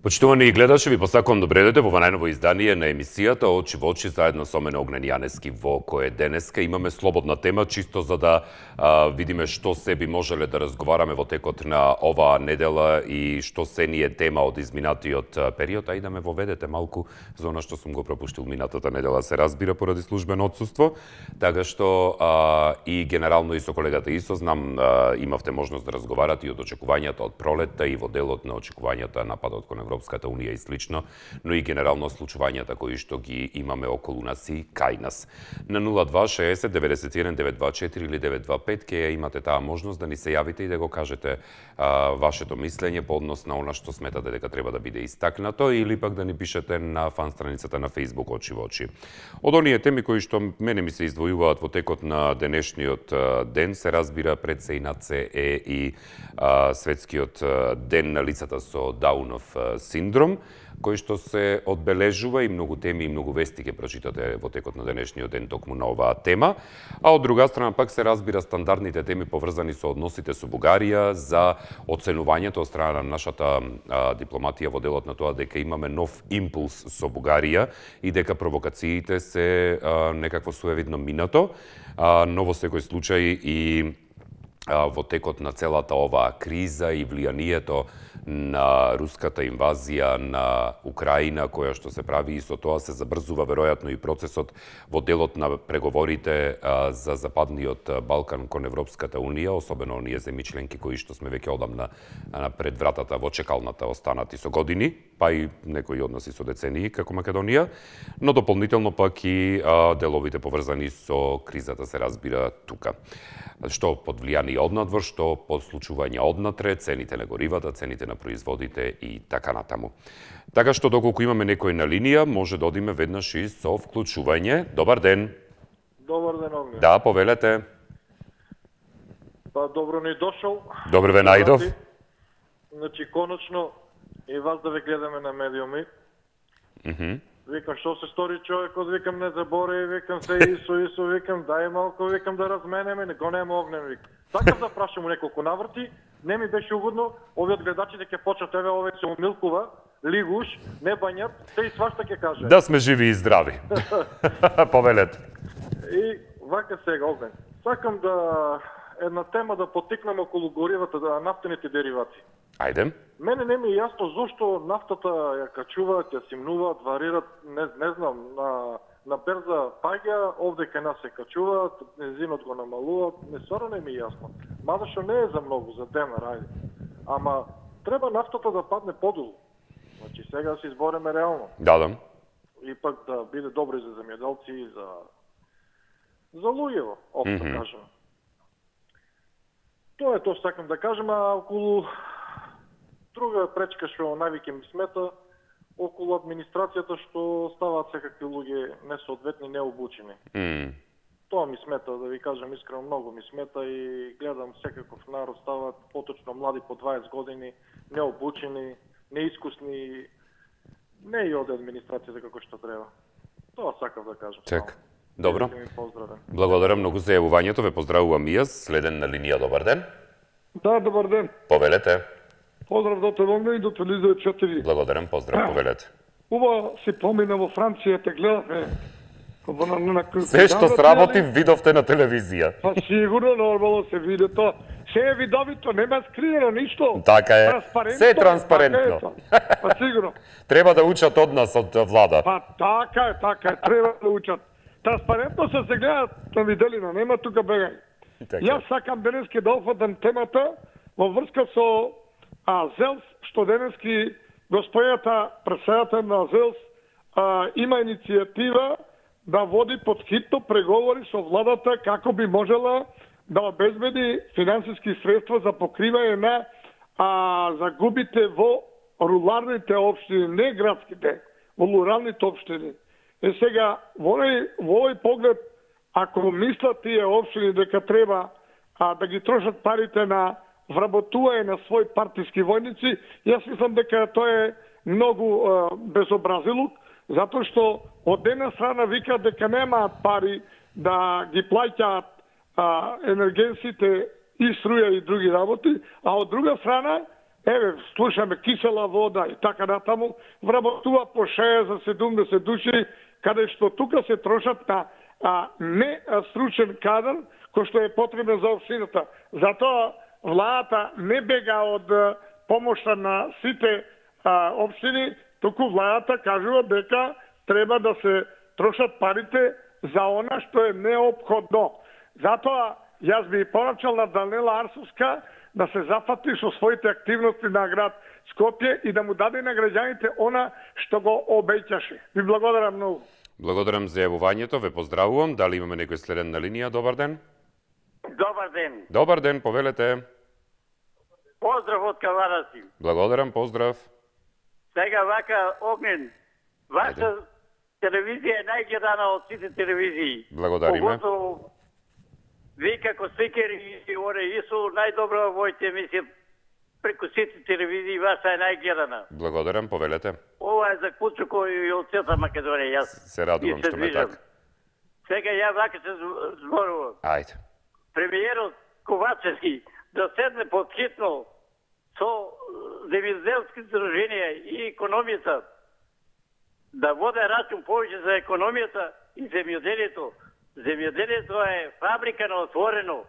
Почитувани гледачи, ви посакувам добре дојдете во најново издание на емисијата Очи во очи заедно со мене Огнен Јанески, во кое денеска имаме слободна тема чисто за да видиме што се би можеле да разговараме во текот на оваа недела и што се ни е тема од изминатиот период, а и да ме воведете малку за она што сум го пропуштил минатата недела, се разбира поради службено отсуство, така што и генерално и со колегата Исо знам имавте можност да разговарате и од очекувањата од пролетта и во делот на очекувањата нападот кон Европската унија и слично, но и генерално случувањата кои што ги имаме околу нас и кај нас. На 0260 91 924 или 925 ќе имате таа можност да ни се јавите и да го кажете вашето мислење по однос на она што сметате дека треба да биде истакнато или пак да ни пишете на фан страницата на Facebook Очи во очи. Од оние теми кои што мене ми се издвојуваат во текот на денешниот ден се разбира пред се и над се е и светскиот ден на лицата со Даунов синдром, кој што се одбележува и многу теми и многу вести ќе прочитате во текот на денешниот ден токму на оваа тема, а од друга страна пак се разбира стандардните теми поврзани со односите со Бугарија, за оценувањето од страна на нашата дипломатија во делот на тоа дека имаме нов импулс со Бугарија и дека провокациите се некакво суевидно минато, но во секој случај и во текот на целата оваа криза и влијанието на руската инвазија на Украина, која што се прави и со тоа се забрзува веројатно и процесот во делот на преговорите за Западниот Балкан кон Европската унија, особено оние земји членки кои што сме веќе одамна пред вратата во чекалната останати со години, па и некои од нас и со децении како Македонија, но дополнително пак и деловите поврзани со кризата се разбира тука. Што под влијание однадвор, што под случување однатре, цените на горивата, цените на производите и така натаму. Така што доколку имаме некој на линија, може да одиме веднаш и со вклучување. Добар ден. Добар ден, Огнен. Да, повелете. Па добро ни дошол. Добро ве најдов. Значи, конечно, и вас да ве гледаме на медиуми. Викам, што се стори човекот, викам, не заборави, викам се Исо, викам, дај малко, викам, да разменеме, не го нема Огнен, викам. Сакам да прашам неколку наврти, не ми беше угодно, овие гледачите ќе почнат, еве, овие се умилкува, лигуш, не бањат, се и свашта ќе каже. Да сме живи и здрави. Повелете. И вака сега, Огнен, сакам да една тема да потикнам околу горивата, да нафтените деривати. Ајде. Мене не ми е јасно зошто нафтата ја качуваат, ја симнуваат, варират, не знам, на берза паѓа, овде кај нас се качуваат, бензинот го намалуваат, стварно не ми е јасно. Мада што не е за многу, за денар, ајде. Ама треба нафтата да падне подолу. Значи сега да се избориме реално. Да. И пак да биде добро и за земјоделци и за луѓево, општо кажам. Тоа е тоа сакам да кажам, а околу друга пречка што највеќе ми смета, околу администрацијата што ставаат секакви луѓе несоодветни, необучени. Тоа ми смета, да ви кажам искрено, многу ми смета и гледам секаков народ ставаат поточно млади по 20 години, необучени, неискусни, не и од администрацијата како што треба. Тоа сакав да кажам. Чек. Добро. Поздравен. Благодарам многу за јавувањето, ве поздравувам и јас. Следен на линија, добар ден. Да, добар ден. Повелете. Поздрав до Телонга и до Телевизија 4. Благодарам, поздрав, повелете. Ува се помина во Франција, те гледавме. Се што сработи видовте на телевизија. Па сигурно, нормално се види тоа. Се е видовито, нема скриено ништо. Така е. Се е транспарентно. Така е, па сигурно. Треба да учат од нас, од влада. Па така е, треба да учат. Транспарентно се гледаат на виделина, нема тука бегај. Јас сакам денески да офатам темата во врска со ЗЕЛС, што денески господјата председател на ЗЕЛС има иницијатива да води подхитно преговори со владата како би можела да обезбеди финансиски средства за покривање на загубите во руралните општини, не градските, во руралните општини. Сега, во овој поглед, ако мислат тие општини дека треба да ги трошат парите на вработување на своји партиски војници, јас мислам дека тоа е многу безобразилук, затоа што од една страна вика дека немаат пари да ги плаќаат енергенсите и струја и други работи, а од друга страна еве, слушаме кисела вода и така натаму, вработува по 60-70 души, каде што тука се трошат на не стручен кадар, кој што е потребен за општината. Затоа владата не бега од помошта на сите општини, туку владата кажува дека треба да се трошат парите за она што е неопходно. Затоа јас би порачал на Данела Арсовска да се зафати со своите активности на град Скопје и да му даде на граѓаните она што го обеќаше. Ви благодарам многу. Благодарам за јавувањето, ве поздравувам. Дали имаме некој следен на линија? Добар ден. Добар ден. Добар ден, повелете. Поздрав од Кавараси. Благодарам, поздрав. Сега вака, Огнен, ваша телевизија е најгледана од сите телевизии. Благодариме. Поготово ви како спикер и оре Ису најдобра во овојте емисија преку сите телевизии, ваша е најгледана. Благодарам, повелете. Ова е за Куцуко и од целата Македонија. Јас се радувам што ме така. Сега ја вака се зборувам. Ајде. Премиерот Ковачевски да седне подхитно со земјоделски здруженија и економијата, да воде рачун повеќе за економијата и земјоделието. Земјоделието е фабрика на отворено.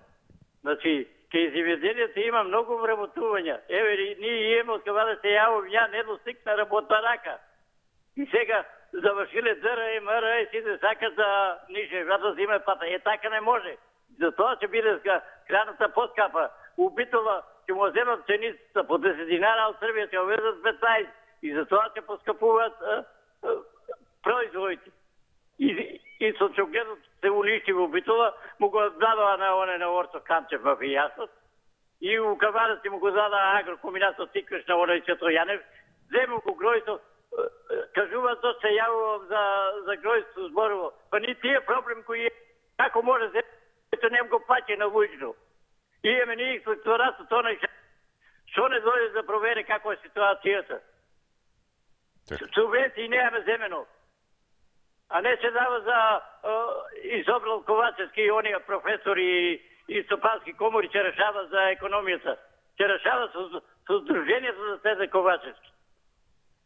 Значи, кај земјоделието има многу вработувања. Еве, ние имаме од кога да се јавам, ја не достигна работна рака. И сега завршиле ДР и МР и сите сакат да нише, да зиме пата. Така не може. Затоа ќе биде храната поскапа. У Битола ќе му земат ценицата по 10 динара, од Србија ќе овезат 15. И затоа ќе поскапуваат производите. И со чогледот се уништи во Битола, му го дадоа на Орцо Камчев мафијасот. И у Кавараси му го дадоа агрокомбинатот Тиквеш на оној Цветко Јанев. Зему го гројто, кажуваат да се јавувам за гројство зборово. Па ни тие проблем кои е, како може да ето нем го паќе на вујчно. И еме ни инспекторатот оној што не дојде да провере како е ситуацијата. Субвенции немаме земено. А не се дава за изобрал Ковачевски и оние професори и стопански комори ќе решава за економијата. Ќе решава со здруженијата за Цезар Ковачевски.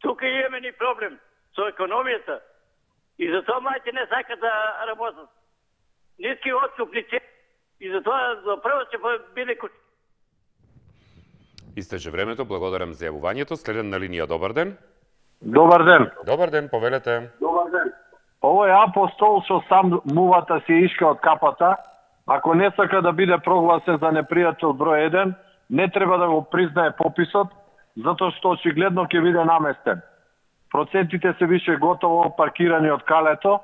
Тука имаме ни проблем со економијата и затоа мајте не сакат да работат. Ниски откупни цени и затоа за прво ќе биде куќ. Истече времето, благодарам за јавувањето. Следен на линија, добар ден. Добар ден. Добар ден, повелете. Добар ден. Овој апостол што сам мувата се ишка од капата, ако не сака да биде прогласен за непријател број 1, не треба да го признае пописот, затоа што очигледно ќе биде наместен. Процентите се више готово паркирани од калето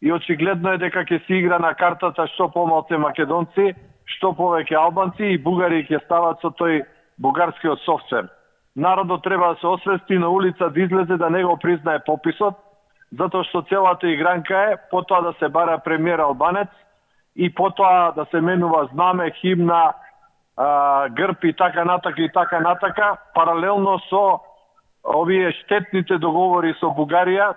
и очигледно е дека ќе се игра на картата што помалку македонци, што повеќе албанци и бугари ќе стават со тој бугарскиот софтвер. Народот треба да се освести на улица да излезе да не го признае пописот, затоа што целата игранка е потоа да се бара премиер албанец и потоа да се менува знаме, химна, грб и така натака, паралелно со овие штетните договори со Бугарија,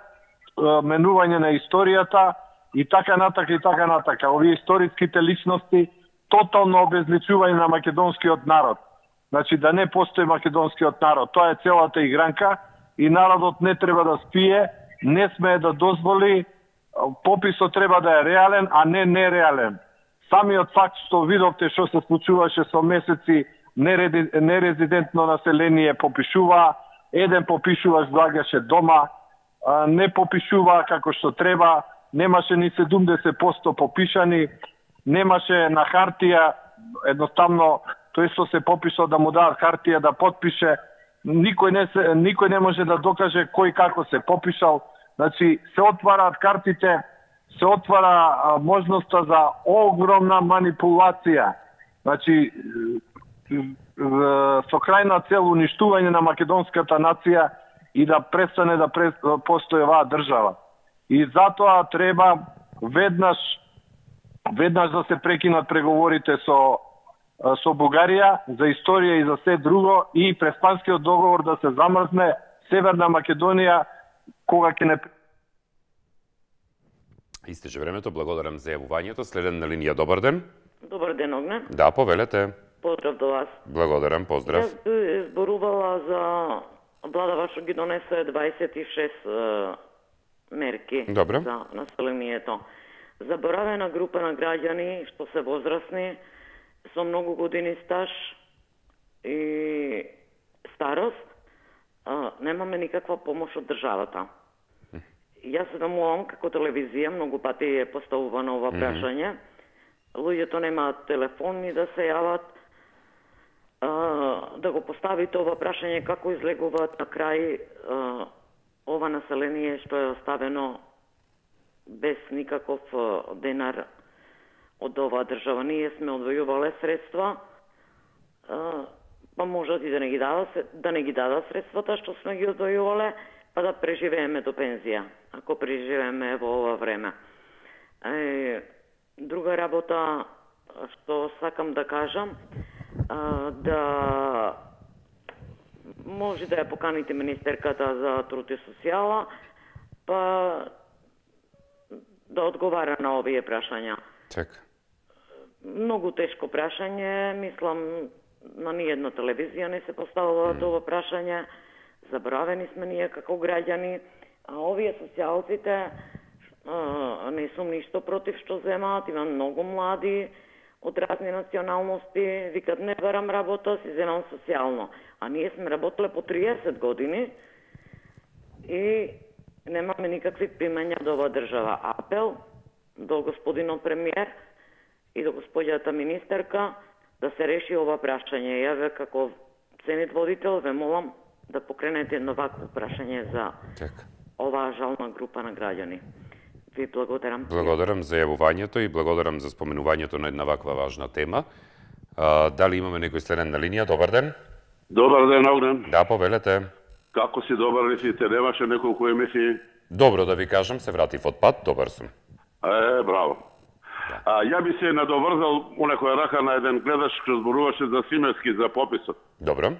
менување на историјата и така натака. Овие историските личности, тотално обезличување на македонскиот народ. Значи да не постои македонскиот народ. Тоа е целата игранка и народот не треба да спие, не смее да дозволи, пописот треба да е реален, а не нереален. Самиот факт што видовте што се случуваше со месеци нерезидентно население попишува, еден попишуваш доаѓаше дома, не попишува како што треба, немаше ни 70% попишани, немаше на хартија, едноставно тој што се попишал да му дадат хартија да потпише, никој не може да докаже кој како се попишал. Значи, се отвараат картите, се отвара можноста за огромна манипулација. Значи, со крајна цел уништување на македонската нација и да престане да постои оваа држава. И затоа треба веднаш да се прекинат преговорите со Бугарија за историја и за се друго и Преспанскиот договор да се замрзне, Северна Македонија кога ќе не... Истече времето, благодарам за јавувањето. Следен на линија, добар ден. Добар ден, Огнен. Да, повелете. Поздрав до вас. Благодарам, поздрав. Јас би зборувала за владава што ги донесе 26 мерки Добре. за населението. Заборавена група на граѓани што се возрастни, со многу години стаж и старост, немаме никаква помош од државата. Јас се домувам како телевизија, многу пати е поставувано ова прашање. Луѓето немаат телефони да се јават, да го поставите ова прашање како излегуваат на крај ова население што е оставено без никаков денар од оваа држава. Ние сме одвојувале средства, па можат и да не ги дадат средствата што сме ги одвојувале, па да преживееме до пензија, ако преживееме во ова време. Друга работа што сакам да кажам, да може да ја поканите министерката за труд и социјала, па да одговара на овие прашања. Така. Многу тешко прашање, мислам на ниједна телевизија не се поставува ова прашање. Заборавени сме ние како граѓани, а овие социјалците не сум ништо против што земаат, има многу млади од разни националности, викат не барам работа, си земам социјално. А ние сме работеле по 30 години и немаме никакви примања од оваа држава. Апел до господинот премиер и до господјата министерка да се реши ова прашање. Ја ве како ценит водител ве молам да покренете едно вакво прашање за оваа жална група на граѓани. Ви благодарам. Благодарам за јавувањето и благодарам за споменувањето на една ваква важна тема. Дали имаме некој следен на линија? Добар ден. Добар ден, Огнен. Да, повелете. Како си добар ли си? Те немаше неколку емисии? Добро да ви кажам, се вратив од пат, добар сум. Браво. Ја би се надоврзал у некоја рака на еден гледач што зборуваше за Симески, за пописот. Добро.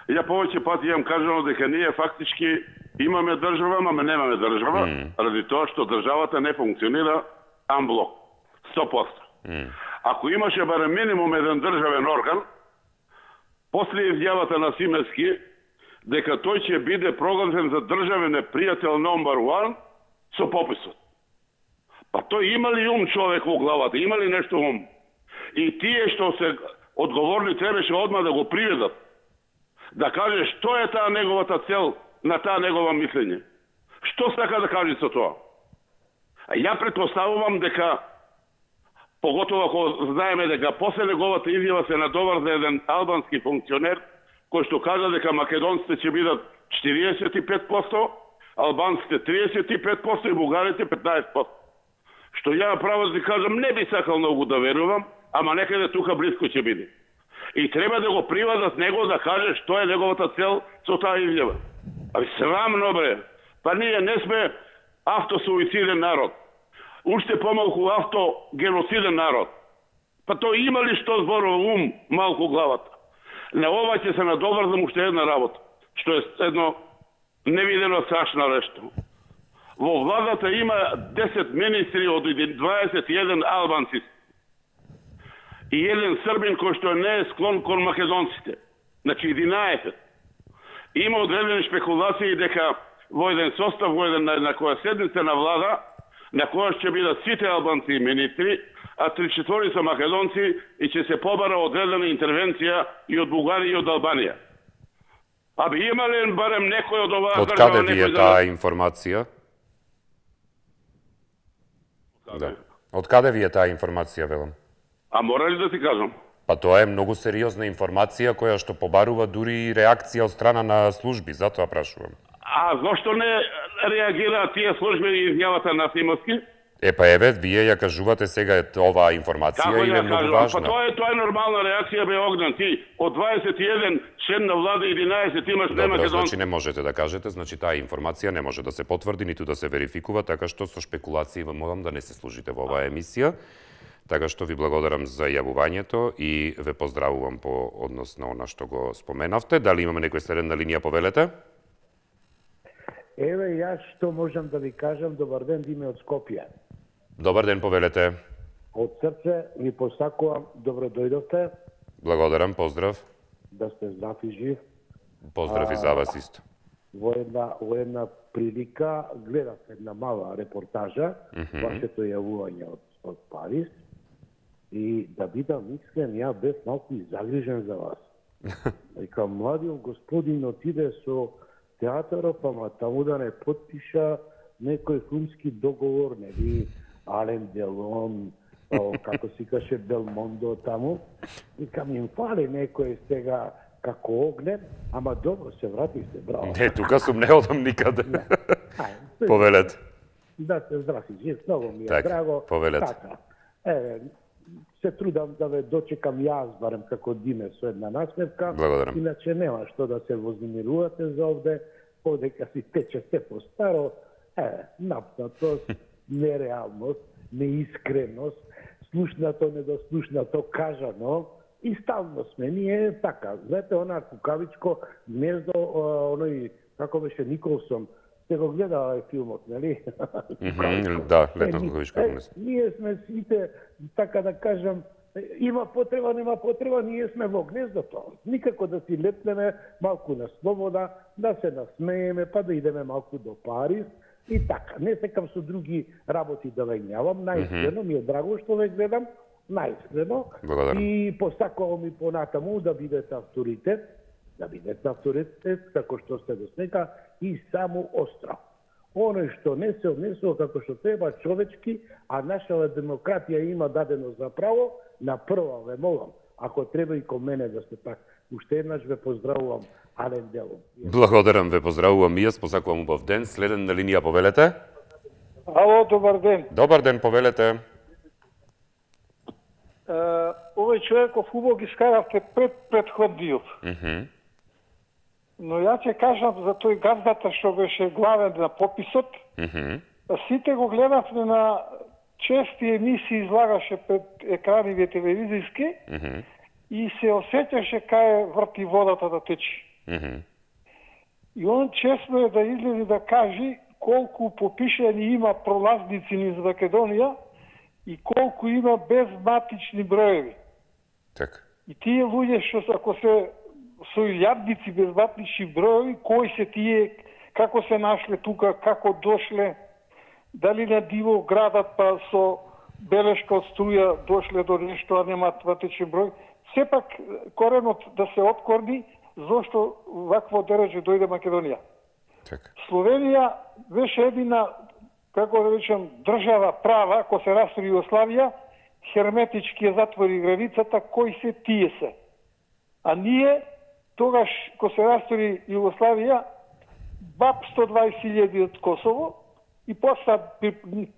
Ја повеќе пати имам кажано дека ние фактички имаме држава, ама немаме држава, ради тоа што државата не функционира амблок, 100%. Ако имаше барем минимум еден државен орган, после изјавата на Симески, дека тој ќе биде прогласен за државен непријател номер 1 со пописот. Па тој има ли ум човек во главата, има ли нешто ум? И тие што се одговорни требаше одма да го приведат, да каже што е таа неговата цел на таа негова мислење. Што сака да каже со тоа? Ја претпоставувам дека, поготово ако знаеме дека после неговата изјава се надоврза еден албански функционер, кој што кажа дека македонците ќе бидат 45%, албанците 35% и бугарите 15%. Што ја право да ти кажам, не би сакал многу да верувам, ама некаде тука близко ќе биде. И треба да го приведат него да каже што е неговата цел со таа изјава. Срамно бре. Па ние не сме автосуициден народ. Уште помалку автогеноциден народ. Па тој има ли што зборува ум малку главата? На ова ќе се надоврзам уште една работа, што е едно невидено страшно нешто. Во владата има 10 министри од 21 албанци и еден србин кој што не е склон кон македонците. Значи 11. Има одредени шпекулации дека во еден состав, во еден на која седница на влада, на која ќе бидат сите албанци и министри, а 3/4 са македонци и ќе се побара одредена интервенција и од Бугарија и од Албанија. Аби има ли барем некој од оваа држава? Од каде ви е таа информација? Да. Од каде ви е таа информација, велам? А мора ли да ти кажам? Па тоа е многу сериозна информација која што побарува дури и реакција од страна на служби, затоа прашувам. А зошто не реагираат тие служби и изјавата на Симески? Па еве, вие ја кажувате сега оваа информација и е многу важна. Па тоа е нормална реакција, бе Огнен, ти од 21 член на влада 11 имаш не македонци. Значи не можете да кажете, значи таа информација не може да се потврди ниту да се верификува, така што со шпекулации вам молам да не се служите во оваа емисија. Така што ви благодарам за јавувањето и ве поздравувам по однос на она што го споменавте. Дали имаме некој следен на линија, повелете? Еве, јас што можам да ви кажам, добар ден, Диме од Скопје. Добар ден, повелете. Од срце ви посакувам, добро дојдовте. Благодарам, поздрав. Да сте здрав и жив. Поздрав и за вас исто. Во една прилика гледав една мала репортажа, вашето јавување од Париз, и да бидам искрен, ја бев малку и загрижен за вас. Вика, младиот господин отиде со театарот, ама таму да не подпиша некој филмски договор, нели, Ален Делон, како си каже Белмондо таму. Викам, им фали некој сега како огнен, ама добро се вратихте, браво. Не, тука сум, не одам никаде. Повелете. Да се здрави, жив, многу ми е драго. Повелете. Така, се трудам да ве дочекам јас, барем како Диме, со една насмевка. Благодарам. Иначе нема што да се вознемирувате за овде, подека си тече се по-старо, напнатост, нереалност, неискреност, слушнато, недослушнато, кажано, и стално сме ние така. Знаете, она кукавичко гнездо, оној, како беше Николсон, сте го гледали филмот, нели? Да, летно кукавичко гнездо. Ние сме сите, така да кажам, има потреба, нема потреба, ние сме во гнездото. Никако да си летнеме малку на слобода, да се насмееме, па да идеме малку до Париз, и така. Не секам со други работи да вењавам, наискрено ми е драго што ве гледам, наискрено. И посакувам и понатаму да бидете авторитет, како што сте до сега, и само остров. Оној што не се однесува како што треба човечки, а нашава демократија има дадено за право, на прва ве молам, ако треба и кон мене да сте така. Уште еднаш ве поздравувам, Ален Делон. Благодарам, ве поздравувам и јас, посакувам убав ден. Следен на линија, повелете. Ало, добар ден. Добар ден, повелете. Овој човеков убаво ги скаравте пред предходниот. Но ја ќе кажам за тој газдата што беше главен на пописот. Сите го гледавме на чести емисии, излагаше пред екраните телевизиски и се осеќаше кај врти водата да течи. И он честно е да излезе да кажи колку попишани има пролазници низ Македонија и колку има безматични броеви. Така. И тие луѓе што ако се со илјадници безматични броеви, кои се тие, како се нашле тука, како дошле, дали на диво градат па со белешка од струја дошле до нешто, а нема матичен број. Сепак коренот да се откорни зошто вакво дереже дојде Македонија. Так. Словенија беше едина, како да речем, држава права, ако се растори Југославија, херметички ја затвори границата, кои се тие се. А ние, тогаш, ко се растори Југославија, баб 120.000 од Косово и после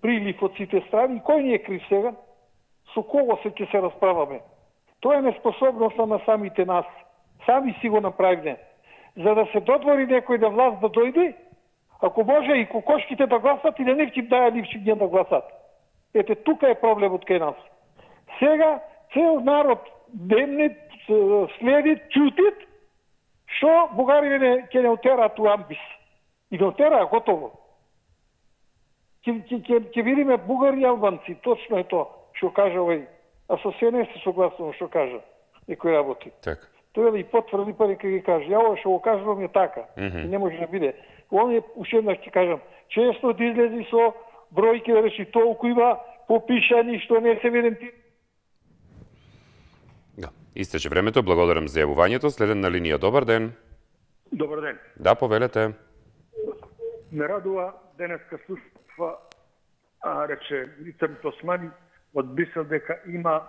прилив од сите страни. И кој ни е крив сега? Со кого ќе се расправаме? Тоа е неспособноста на самите нас. Сами си го направиме. За да се додвори некој да власт да дојде, ако може и кокошките да гласат и да нивчим даја нивчим да гласат. Ете, тука е проблемот кај нас. Сега цел народ демне следи, чутит, што бугариве ќе не отераат у амбис. И не отераа готово. Ќе видиме бугари и албанци, точно е тоа што кажа овој. А со се не се согласувам што кажа некои работи. Така. Тоа да и потврди па нека ги каже. Ја ова што го кажувам е така. И не може да биде. Он е, уште еднаш ќе кажам, често да излези со бројки да речи толку има попишани што не се виденти. Да. Истече времето, благодарам за јавувањето. Следен на линија, добар ден. Добар ден. Да, повелете. Ме радува денеска слушава, рече Лицемит Османи од Брисел дека има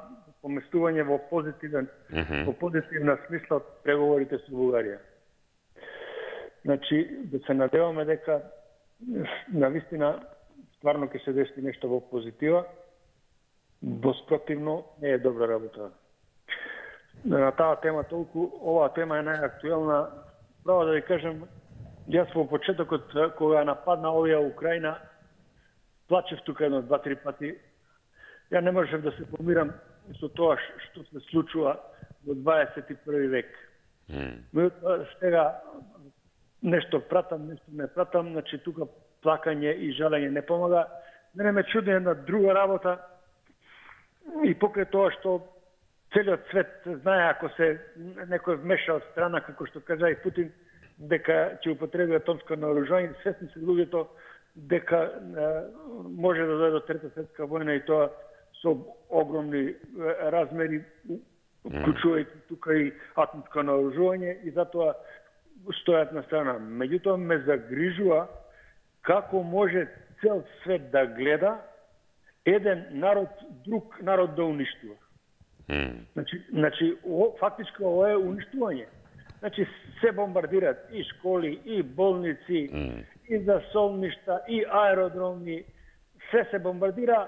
поместување во позитивна смисла од преговорите со Бугарија. Значи, да се надеваме дека навистина стварно ќе се деси нешто во позитива, воспротивно не е добра работа. На таа тема толку, оваа тема е најактуелна. Право да ви кажем, јас во почетокот кога нападна оваа Украина, плачев тука едно 2-3 пати. Ја не можев да се помирам со тоа што се случува во 21 век. Сега нешто пратам, нешто не пратам, значи тука плакање и жалење не помага. Мене ме чуди една друга работа и покрај тоа што целиот свет знае ако се некој вмеша од страна, како што кажа и Путин, дека ќе употреби атомско наоружување, свесни се луѓето дека може да дојде до Трета светска војна и тоа со огромни размери, вклучувајќи тука и атомско наоружување, и затоа стојат на страна. Меѓутоа ме загрижува како може цел свет да гледа еден народ друг народ да уништува. Значи, фактички ова е уништување. Значи, се бомбардираат и школи, и болници, и засолништа, и аеродроми, се бомбардира,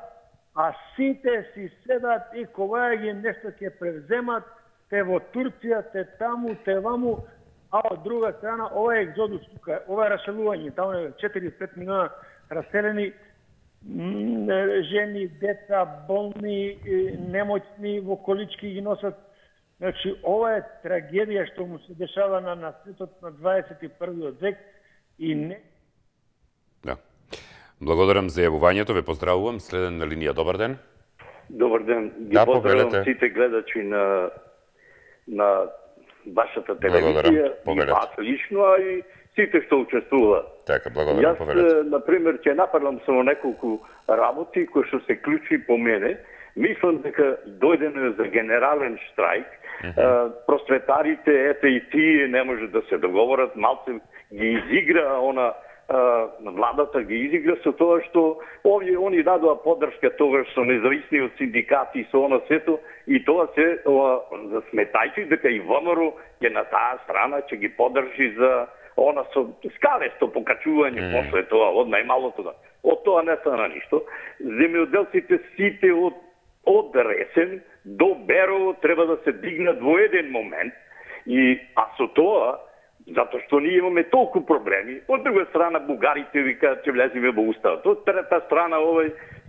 а сите си седат и кога ги нешто ќе превземат, те во Турција, те таму, те ваму, а од друга страна ова е екзодус тука, ова е раселување, таму е 4-5 милиона раселени, жени, деца, болни, немоćни, во колички ги носат. Значи, ова е трагедија што му се дешава на светот на 21. век и не... Да. Благодарам за јавувањето, ве поздравувам. Следен на линија, добар ден. Добар ден. Ги поздравувам сите гледачи на вашата телевизија, и вас лично, а и сите што учествуваат. Така, благодарам, повелете. Јас, например, ќе нападам само неколку работи кои што се ключи по мене. Мислам дека дојдено за генерален штрајк. Просветарите, ете и тие не може да се договорат, малце ги изигра владата ги изигра со тоа што они дадоа поддршка тогаш со независни од синдикати со она сето, и тоа се сметајќи дека и ВМРО ќе на таа страна ќе ги поддржи за она со скалесто покачување после тоа од најмалото. Од тоа не стана ништо. Земјоделците сите од Ресен до Берово треба да се дигнат во еден момент, а со тоа затоа што ние имаме толку проблеми. Од друга страна бугарите викаат ќе влеземе во уставот. Од трета страна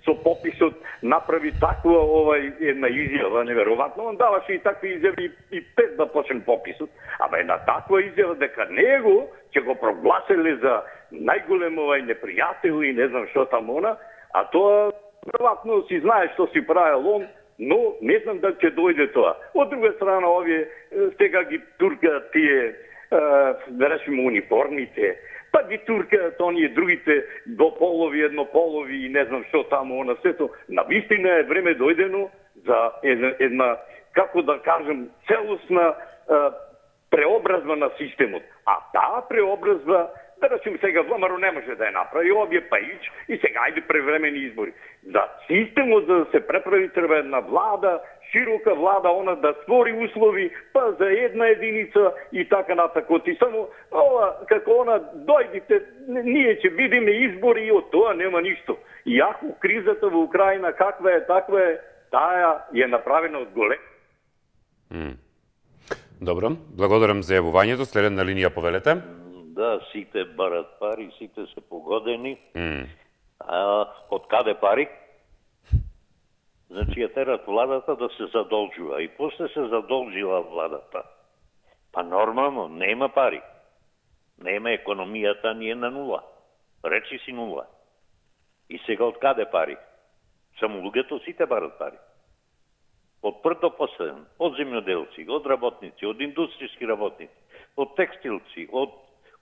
со пописот направи таква една изјава неверојатно. Он даваше и такви изјави и пред да почне пописот. Ама една таква изјава дека него ќе го прогласиле за најголем непријател и не знам што таму а тоа веројатно си знае што си правил он, но не знам дали ќе дојде тоа. Од друга страна овие сега ги туркаат тие да речеме униформите, па ги туркаат оние другите двополови, еднополови и не знам што таму на сето. Навистина е време дојдено за една, како да кажем, целосна преобразба на системот. А таа преобразба, да речем сега ВМРО не може да ја направи, овие Паич и сега ајде превремени избори. За системот за да се преправи треба една влада, широка влада, она да створи услови, па за една единица и така натакот. И само како дојдите, ние ќе видиме избори и од тоа нема ништо. Иако кризата во Украина каква е, таква е, таа е направена од голем. Добро, благодарам за јавувањето. Следен на линија, повелете. Да, сите барат пари, сите се погодени. Од каде пари? Значи ја терат владата да се задолжува. И после се задолжила владата. Па нормално, нема пари. Нема, економијата ни е на нула. Речи си нула. И сега од каде пари? Само луѓето сите барат пари. Од прв до последен, од земјоделци, од работници, од индустријски работници, од текстилци, од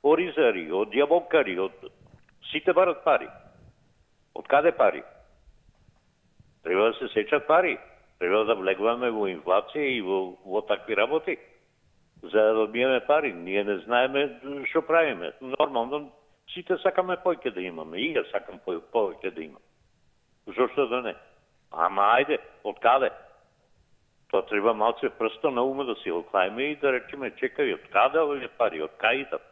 оризари, од јаболкари, сите барат пари. Од каде пари? Треба да се сечат пари. Треба да влегваме во инфлација и во такви работи. За да добиеме пари. Ние не знаеме што правиме. Нормално, сите сакаме повеќе да имаме. И ја сакам повеќе да имам. Зошто да не? Ама ајде, од каде? Тоа треба малце прсто на ума да се оклајме и да речеме, чекај, од каде овие пари, од кај идат?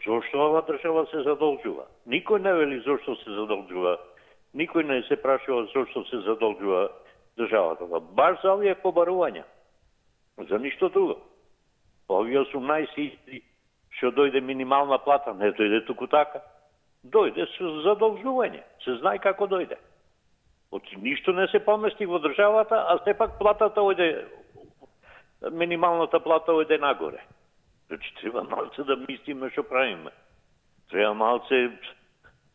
Зошто ова држава се задолжува? Никој не вели зошто се задолжува. Никој не се прашува зошто се задолжува државата. Баш за овие побарувања. За ништо друго. Овие 18 што дојде минимална плата, не дојде туку така. Дојде со задолжување. Се знае како дојде. Ништо не се помести во државата, а сепак платата ојде, минималната плата ојде нагоре. Значи, треба малце да мислиме што правиме. Треба малце,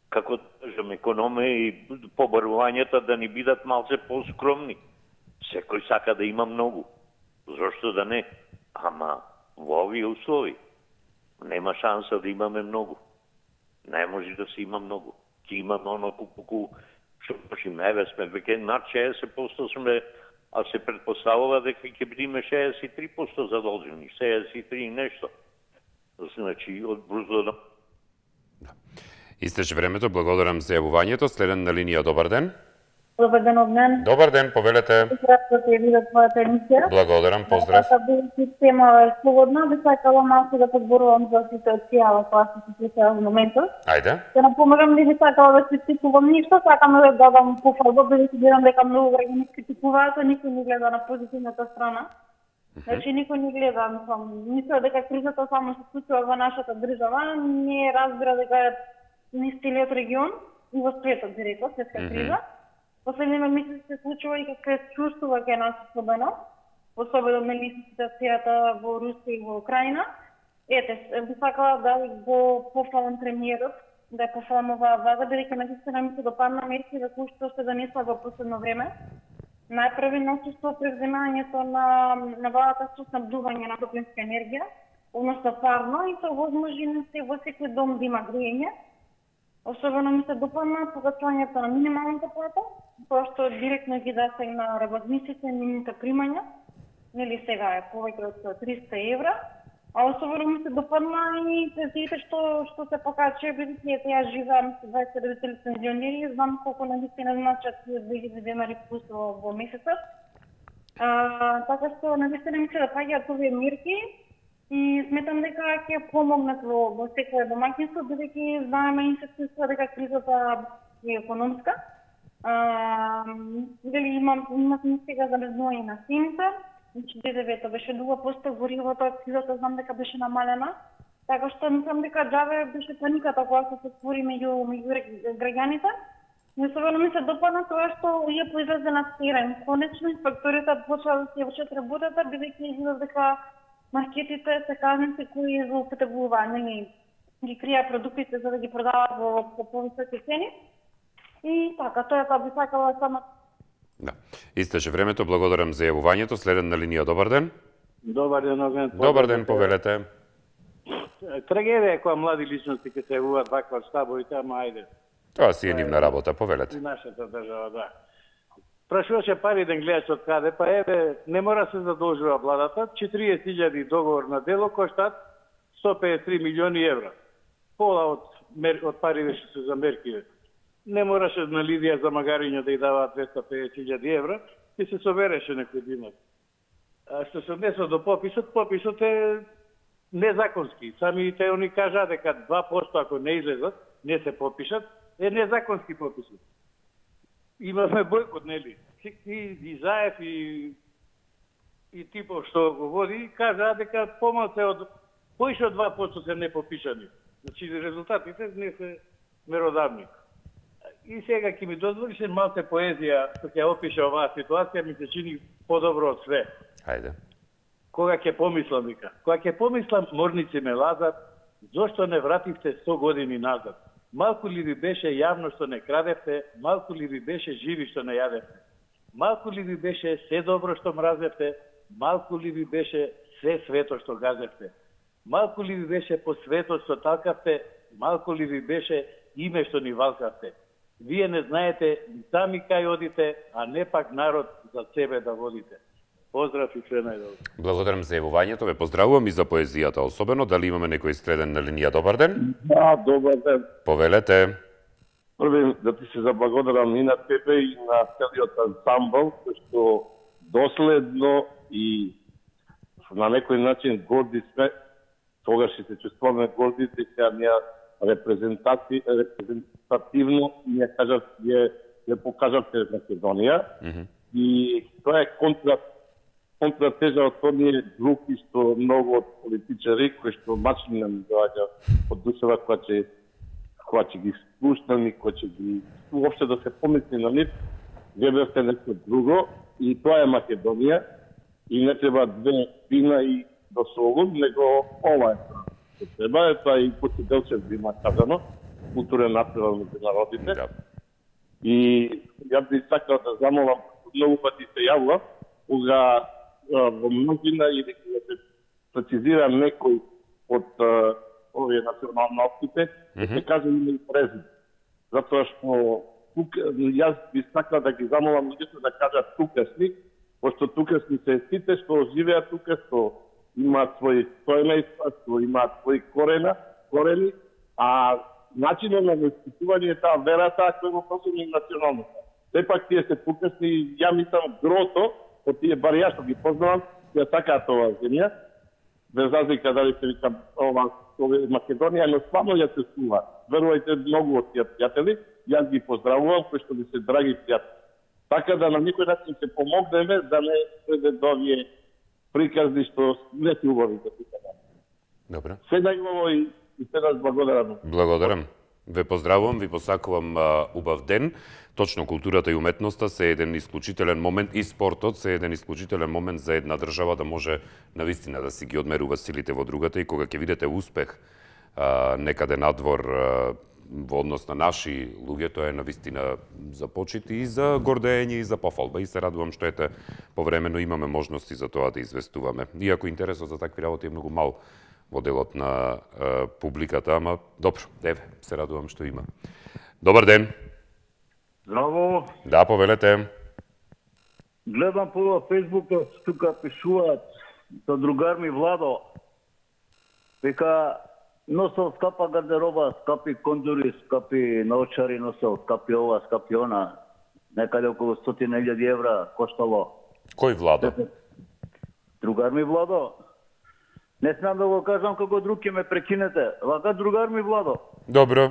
како да кажем, економија и побарувањата да ни бидат малце поскромни. Секој сака да има многу. Зошто да не? Ама во овие услови нема шанса да имаме многу. Не може да се има многу. Ќе имаме оноку што почиме, еве сме веќе над 60% сме, а се предпоставува дека ќе бидеме 63% задолжени, 63 и нешто. Значи, од брузо. Истече времето, благодарам за јавувањето. Следен на линија, добар ден. Добар ден, Огнен. Добар ден, повелете. Поздрав да те видам твојата емисија. Благодарам, поздрав. Тема е слободна, би сакала малку да подборувам за ситуацијава која се случува во моментот. Ајде. Ќе напомагам, не би сакала да критикувам ништо, сакам да дадам пофалба, бидејќи гледам дека многу граѓани критикуваат, а никој не гледа на позитивната страна. Значи никој не гледа, мисля дека кризата само се случува во нашата држава, не разбира дека е низ целиот регион и во светот, би рекла, светска криза. Последниот месец се случува и како се чувствува кај нас особено нели ситуацијата во Русија и во Украина. Ете, би сакала да го пофалам премиерот, да ја пофалам оваа влада, бидејќи наистина ми се допадна мерки за кои што се донесла во последно време. Најпрви ноќество превземањето на владата со снабдување на топлинска енергија, односно парно, и тоа возможи во секој дом да има грејење. Особено ми се допадна покачувањето на минималната плата, тоа што директно ги засегна работниците, нивните примања. Нели сега е повеќе од 300 евра. А особено ми се допадна и пензиите што се покачува, бидејќи ете јас живеам со 20 лицензионери и знам колку навистина значат 2000 денари плюс во месецот. Така што навистина ми се допаѓаат овие мерки и сметам дека ќе помогнат во секој домаќинство, бидејќи знаеме и се чувствува дека кризата е економска. Дали имаме сега замрзнување на цените, значи ДДВ-то беше 2%, горивото од кризата знам дека беше намалена, така што мислам дека џаве беше паниката која се створи меѓу граѓаните. Особено ми се допадна тоа што ја произлезе на терен. Конечно инспекторите почнаа да се вршат работата, бидејќи изгледа дека маркетите се казници кои злоупотребуваат, ги кријаат продуктите за да ги продаваат во повисоки цени. И така, тоа би сакала само. Да. Истече времето, благодарам за јавувањето. Следен на линија, добар ден. Добар ден, Огнен. Добар ден, повелете. Трагедија е која млади личности ке се јавуваат ваква штабовите, ама ајде. Тоа си е нивна работа, повелете. И нашата држава, да. Прашуваше пари ден гледаш од каде, па еве, не мора се задолжува владата, 40.000 договор на дело коштат 153 милиони евра. Пола од пари што се за мерки. Не мораше на Лидија за магариња да ја даваат 250.000 евра и се собереше некој динар. А што се однесува до пописот е незаконски. Самите они кажа дека 2% ако не излезат, не се попишат, е незаконски пописот. Имаме бойкот, нели? И Заев и типов што го води, кажа дека помалце од поише од 2% се непопишани. Значи резултатите не се меродавни. И сега ќе ми дозволиш малце поезија што ќе опише оваа ситуација, ми се чини подобро од све. Хајде. Кога ќе помислам, вика. Кога ќе помислам, морници ме лазат, зошто не вративте 100 години назад? Малку ли ви беше јавно што не крадевте, малку ли ви беше живи што не јадевте? Малку ли ви беше се добро што мразевте, малку ли ви беше се свето што газевте? Малку ли ви беше по светот што талкавте, малку ли ви беше име што ни валкавте? Вие не знаете сами кај одите, а не пак народ за себе да водите. Поздрав и све најдобро. Благодарам за јавувањето, ве поздравувам и за поезијата особено. Дали имаме некој следен на линија? Добар ден. Да, добар ден. Повелете. Први да ти се заблагодарам и на тебе и на целиот ансамбл, што доследно и на некој начин горди сме, тогаш се чувствуваме горди, дека ние репрезентативно ја покажавте Македонија. И тоа е контратежа од оние групи што многу од политичари кои што мачни нам доаѓа од душева која ќе ги спуштам и која ќе ги уопште да се помисли на нив, гледавте нешто друго и тоа е Македонија и не треба две вина и до солун, него ова е треба, тоа и Коци Делчев би има казано, културен натпревар меѓу народите. И ја би сакал да замолам, многу пати се јавува, кога во многина или кога се прецизира некој од овие националностите, се кажа име и презиме. Затоа што јас би сакал да ги замолам луѓето да кажат тукасни, пошто тукасни се сите што живеат тука, што имаат своји стојмејства, што имаат своји корени, а начинот на воспитување е таа верата која го посебни националноста. Сепак тие се тукасни, ја мислам грото, од тие бар ја што ги познавам, ја сакаат оваа земја, без разлика дали се викам ова Македонија, но стварно ја се чува. Верувајте, многу од тие пријатели, јас ги поздравувам, кои што ми се драги пријатели. Така да на некој начин се помогнеме да не преде до овие приказни што не се убави да се кажа. Добре. Се најубаво и се да благодарам. Благодарам. Ве поздравувам, ви посакувам убав ден. Точно културата и уметноста се еден исклучителен момент и спортот се еден исклучителен момент за една држава да може навистина да си ги одмерува силите во другата и кога ќе видите успех некаде надвор во однос на наши луѓе, тоа е навистина за почит и за гордење и за пофалба. И се радувам што ете повремено имаме можности за тоа да известуваме. Иако интересот за такви работи е многу мал во делот на публиката, ама добро, еве, се радувам што има. Добар ден. Здраво. Да, повелете. Гледам по Фейсбука, тука пишуваат со другар ми Владо. Вика, носел скапа гардероба, скапи кондури, скапи наочари носел, скапи ова, скапи она. Некаде околу 100.000 евра коштало. Кој Владо? Другар ми Владо. Не смеам да го кажам како друг ќе ме прекинете. Вака другар ми Владо. Добро.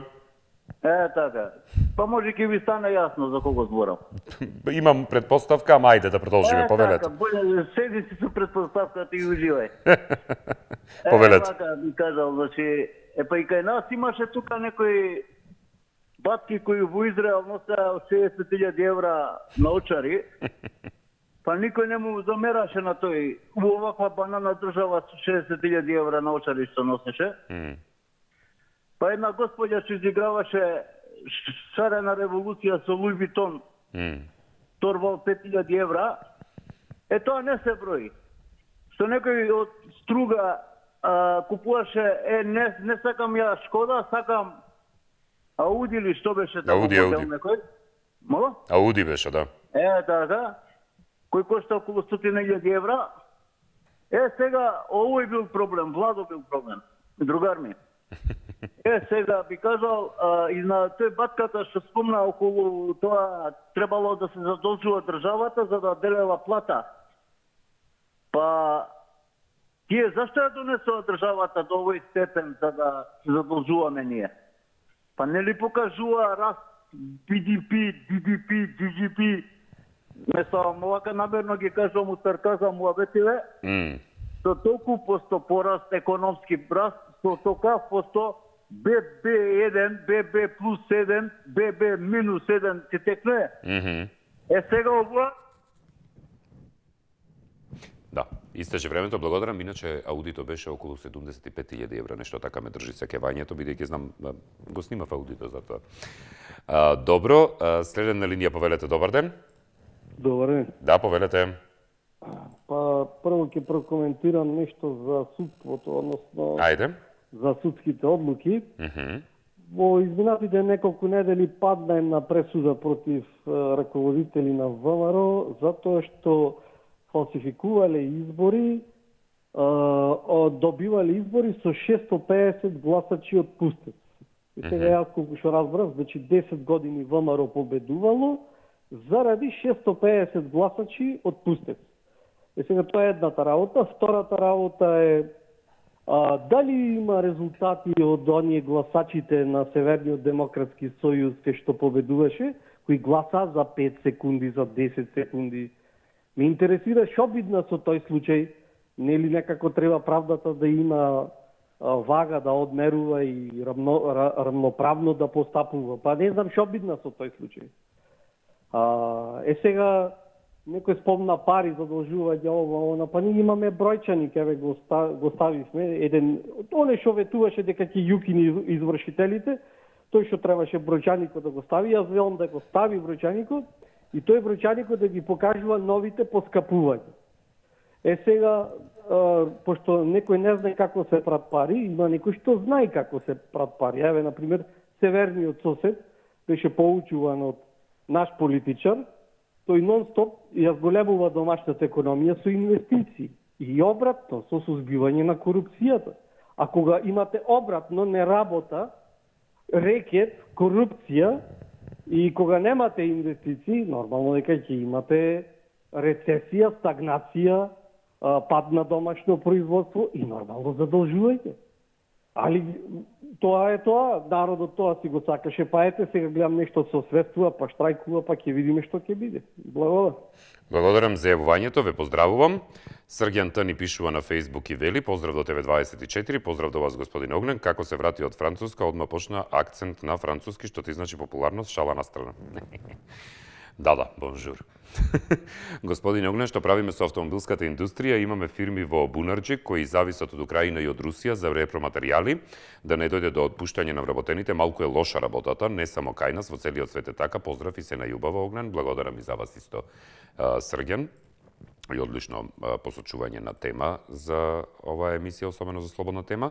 Така. Па може ќе ви стане јасно за кого зборам. Имам предпоставка, ама ајде да продолжиме, повелете. Така, боље седи си со предпоставката и уживај. Повелете. Така би кажал, значи, па и кај нас имаше тука некои батки кои во Израел носеа од 60.000 евра научари. Па никој не му замераше на тој. Оваква банана држава со 60.000 евра научари што носеше. Па една господја што изиграваше шарена револуција со Луи Витон, торбал 5.000 евра, тоа не се брои. Што некој од Струга купуваше, не сакам ја Шкода, сакам Ауди или што беше тако модел некој? Мола? Ауди беше, да. Да. Кој кошта околу 100.000 евра. Сега, овој бил проблем, Владо бил проблем, другар ми. Сега би кажал, и на тој батката што спомна околу тоа, требало да се задолжува државата за да делела плата. Па, тие зашто ја донесува државата до овој степен за да се задолжуваме ние? Па не ли покажува раст BDP, GDP, Месавам, овака намерно ги кажувам у сарказам муабетиве, со толку посто пораст економски раст, со толка посто ББ1, ББ плюс 1, ББ минус 1 се текнуе. Сега овоа... Да, истече времето, благодарам. Иначе аудито беше околу 75.000 евра, нешто така ме држи сеќавањето, бидејќи знам, го снимав аудито за тоа. Добро, следен на линија, повелете, добар ден. Добар ден. Да, повелете. Па, прво ќе прокоментирам нешто за судството, односно... Ајде. За судските одлуки. Во изминатите неколку недели падна една пресуда против раководители на ВМРО, затоа што фалсификувале избори, добивале избори со 650 гласачи од Пустец. И сега јас колку што разбрав, значи 10 години ВМРО победувало заради 650 гласачи од Пустец. И сега тоа е едната работа. Втората работа е дали има резултати од оние гласачите на Северниот демократски сојуз кај што победуваше, кои гласа за 5 секунди, за 10 секунди. Ме интересира што бидна со тој случај, нели некако треба правдата да има вага, да одмерува и рамноправно да постапува. Па не знам што бидна со тој случај. Сега некој спомна пари, задолжување ова, па ние имаме бројчани, кеве го ставивме, еден, оне што ветуваше дека ќе јукини извршителите, тој што требаше бројчаникот да го стави, јас велам да го стави бројчаникот и тој бројчаникот да ги покажува новите поскапувања. Сега, пошто некој не знае како се прат пари, има некој што знае како се прат пари. Еве, например, северниот сосед беше поучуван од наш политичар, тој нон-стоп ја зголемува домашната економија со инвестиции. И обратно, со сузбивање на корупцијата. А кога имате обратно, не работа, рекет, корупција, и кога немате инвестиции, нормално дека ќе имате рецесија, стагнација, пад на домашно производство и нормално задолжување. Али тоа е тоа, народот тоа си го сакаше, па ете сега гледам нешто се освестува, па штрајкува, па ќе видиме што ќе биде. Благодарам. Благодарам за јавувањето, ве поздравувам. Срѓан Т ни пишува на Facebook и вели: поздрав до ТВ24, поздрав до вас господин Огнен, како се врати од Француска, одма почна акцент на француски, што ти значи популарност, шала на страна. Да, бонжур. Господин Огнен, што правиме со автомобилската индустрија? Имаме фирми во Бунарџик кои зависат од Украина и од Русија за репроматеријали, да не дојде до отпуштање на вработените. Малку е лоша работата, не само кај нас, во целиот свет е така. Поздрав и се најубаво, Огнен. Благодарам и за вас исто, Срѓан. И одлично посочување на тема за оваа емисија, особено за слободна тема.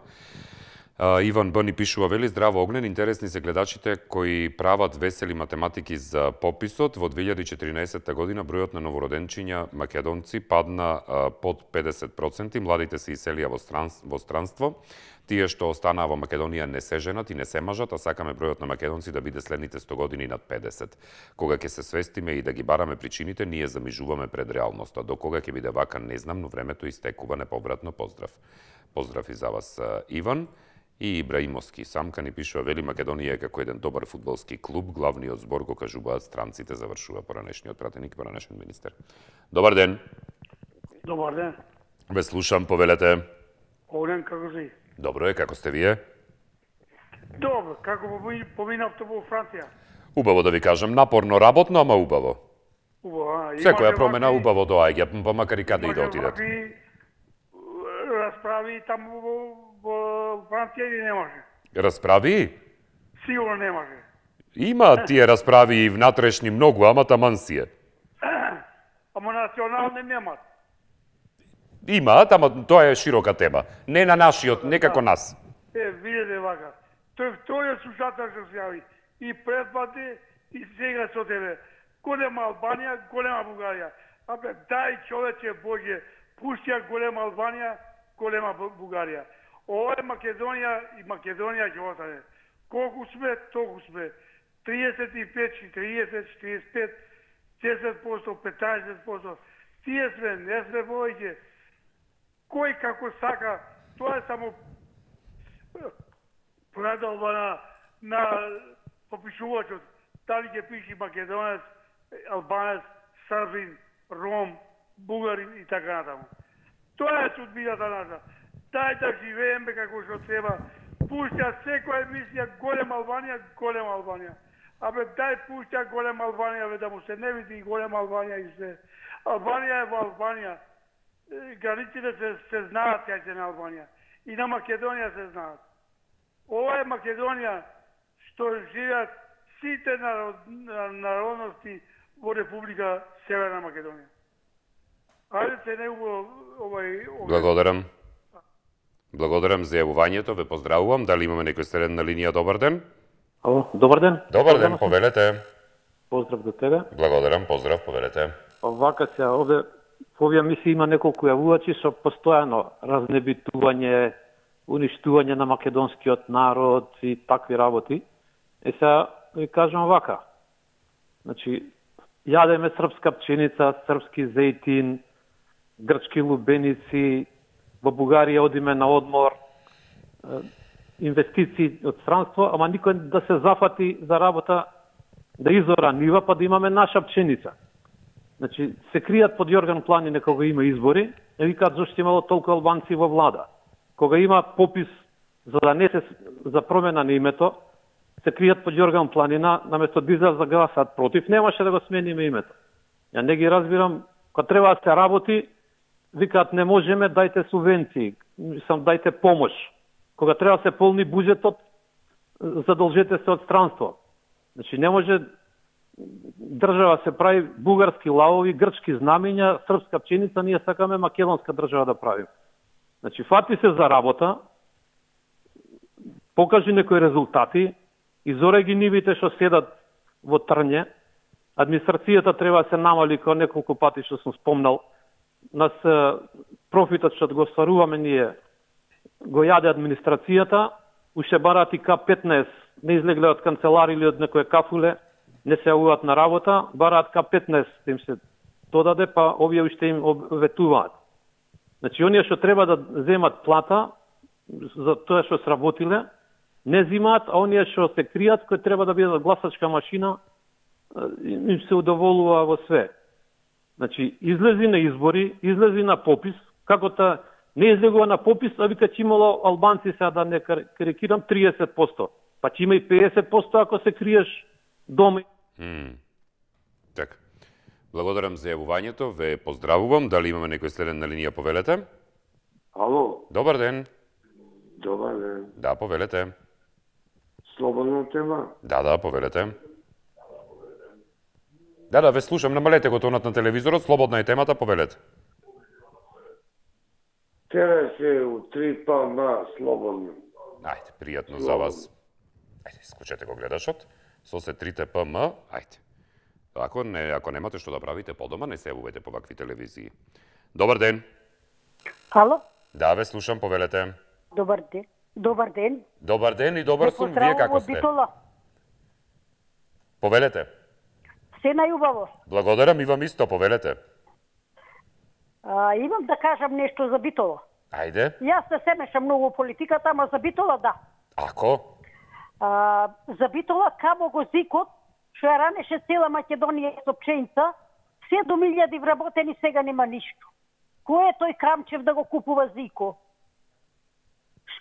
Иван Б ни пишува, вели: здраво Огнен, интересни се гледачите кои прават весели математики за пописот. Во 2014 година бројот на новороденчиња македонци падна под 50%, младите се иселија во странство. Тие што останаа во Македонија не се женат и не се мажат, а сакаме бројот на македонци да биде следните 100 години над 50. Кога ќе се свестиме и да ги бараме причините, ние замижуваме пред реалноста. До кога ќе биде вака, не знам, но времето истекува неповратно. Поздрав. Поздрав и за вас, Иван. И Ибраимовски самка ни пишува, вели: Македонија е како еден добар фудбалски клуб, главниот збор го кажуваат странците, завршува поранешниот пратеник, поранешен министер. Добар ден. Добар ден. Ве слушам, повелете. Огнен, како си? Добро е, како сте вие? Добро, како поминавте во Франција? Убаво да ви кажам, напорно работно, ама убаво. Убаво, секоја промена убаво доаѓа, па макар и каде и да отидат. Расправи таму во Франција или не може? Расправи? Сигурно не може. Има тие расправи и внатрешни многу, ама таман си е. Ама национални немат. Имаат, ама тоа е широка тема. Не на нашиот, некако нас. Видете вака. Тој вториот слушател што се јави. И предпати, и сега со тебе. Голема Албанија, голема Бугарија. Абе, дај човече Боже, пуштија голема Албанија, голема Бугарија. Ова е Македонија и Македонија ќе остане. Колку сме, толку сме. 35, 40, 45, 10%, 15%. Тие сме, не сме повеќе. Кој како сака, тоа е само предалба на попишувачот. Дали ќе пиши македонец, албанец, србин, ром, бугарин и така натаму. Тоа е судбината наша. Дај да живееме како што треба. Пуштја секоја емисија голема Албанија, голема Албанија. Абе дај пуштја голема Албанија, бе да му се не види голема Албанија и се. Албанија е во Албанија. Границите се знаат кај се на Албанија. И на Македонија се знаат. Ова е Македонија што живеат сите народности во Република Северна Македонија. Ајде се не овај... Благодарам. Благодарам за јавувањето, ве поздравувам. Дали имаме некој среден на линија? Добар ден. Ало, добар ден. Добар ден, повелете. Поздрав до тебе. Благодарам, поздрав, повелете. Вака се, овде во овие мисии има неколку јавувачи со постојано разнебитување, уништување на македонскиот народ и такви работи. Сега ви кажам вака. Значи, јадеме српска пченица, српски зејтин, грчки лубеници, во Бугарија одиме на одмор, инвестиции од странство, ама никој да се зафати за работа да изора нива, па да имаме наша пченица. Значи, се кријат под Јорган Планин кога има избори, и викаат зашто имало толку албанци во влада. Кога има попис за да не се за промена на името, се кријат под Јорган Планина, наместо да излезат да гласаат против, немаше да го смениме името. Ја не ги разбирам, кога треба да се работи, викаат не можеме, дајте субвенции, дајте помош. Кога треба да се полни буџетот, задолжете се од странство. Значи не може држава се прави бугарски лавови, грчки знамења, српска пченица, ние сакаме македонска држава да правим. Значи, фати се за работа, покажи некои резултати, изоре ги нивите што седат во трње, администрацијата треба да се намали кој неколку пати што сум спомнал, нас профитот што го стваруваме ние го јаде администрацијата, уште барат и К-15, не излегле од канцелари или од некој кафуле, не се јавуваат на работа, бараат К-15 им се додаде, па овие уште им ветуваат. Значи, оние што треба да земат плата за тоа што сработиле, не зимаат, а оние што се кријат, кои треба да бидат гласачка машина, им се удоволува во све. Значи, излези на избори, излези на попис, како не излегува на попис, а вика че имало албанци, сега да не карикирам, 30%. Па че има и 50% ако се криеш дома. Така. Благодарам за јавувањето, ве поздравувам. Дали имаме некој следен на линија, повелете? Ало. Добар ден. Добар ден. Да, повелете. Слободна тема? Да, повелете. Да, ве слушам, намалете го тонот на телевизорот, слободна е темата, повелете. Тера се у 3 ПМ, слободно. Ајде, пријатно за вас. Ајде, исклучете го гледашот. Со се 3 ПМ, ајде. Ако немате што да правите по дома, не се јавувајте по вакви телевизии. Добар ден. Ало? Да, ве слушам, повелете. Добар ден. Добар ден. Добар ден и добар сум, вие како сте? Повелете. Се најубаво. Благодарам и вам исто, повелете. Имам да кажам нешто за Битола. Ајде. Јас не се мешам многу политиката, ама за Битола да. Ако? За Битола камо го зикот, што ја ранеше цела Македонија со пченица, 7.000 вработени, сега нема ништо. Кој е тој Крамчев да го купува зико?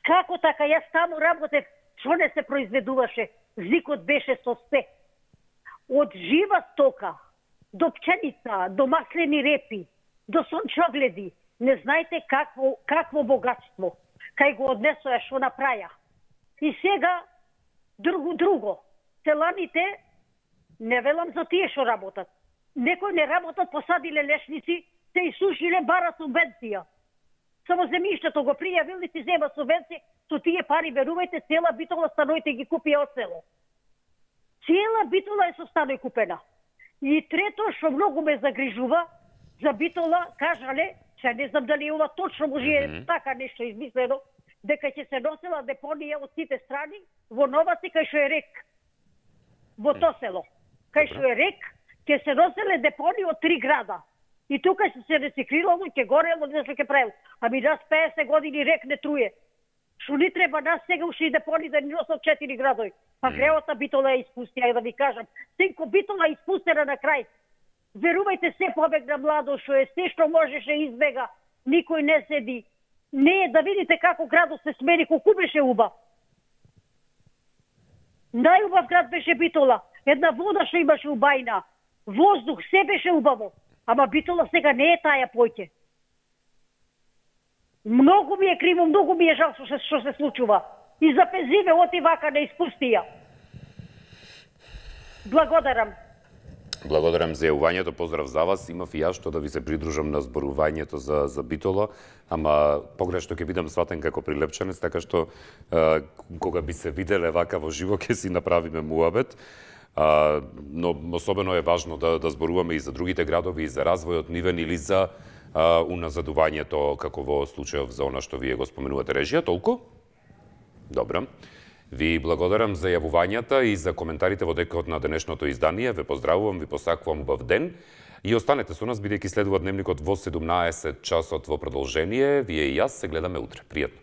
Како така? Јас таму работев, што не се произведуваше? Зикот беше со се. Од жива стока, до пченица, до маслени репи, до сончогледи. Не знаете какво богатство. Кај го однесоја, што направја. И сега, друго. Селаните, не велам за тие што работат. Некои не работат, посадиле лешници, се исушиле, бара субвенција. Само земјиштето го пријавил и си зема субвенција, со тие пари, верувајте, цела Битола станоите ги купија од село. Цела Битола е со станој купена. И трето, што многу ме загрижува, за Битола, кажале, че не знам дали ова точно може така нешто измислено, дека ќе се носела депонија од сите страни во Новаци, кај што е рек. Во то село. Кај што е рек, ќе се носеле депонија од 3 града. И тука се рециклирало, ќе горело, не што ќе правило. Ами нас 50 години рек не труе. Што ни треба нас сега уши депони да ни носат 4 градови. Па греота Битола е испустија, да ви кажам. Сенко Битола е испустена на крај. Верувајте, се побегна младо што е, се што можеше избега, никој не седи. Не е да видите како градот се смени, колку беше убав. Најубав град беше Битола. Една вода што имаше убајна. Воздух, се беше убаво. Ама Битола сега не е таја поќе. Многу ми е криво, многу ми е жал што се случува. И за пензиве оти вака не испустија. Благодарам. Благодарам за јавувањето, поздрав за вас. Имав и јас што да ви се придружам на зборувањето за Битола, ама погрешно ќе бидам сватен како прилепчанец, така што кога би се виделе вака во живо ќе си направиме муабет. Но особено е важно да зборуваме и за другите градови, и за развојот нивен или за уназадувањето, како во случајов за она што вие го споменувате режија. Толку? Добро. Ви благодарам за јавувањата и за коментарите во декот на денешното издание. Ве поздравувам, ви посакувам убав ден. И останете со нас, бидејќи следува дневникот во 17 часот во продолжение. Вие и јас се гледаме утре. Пријатно.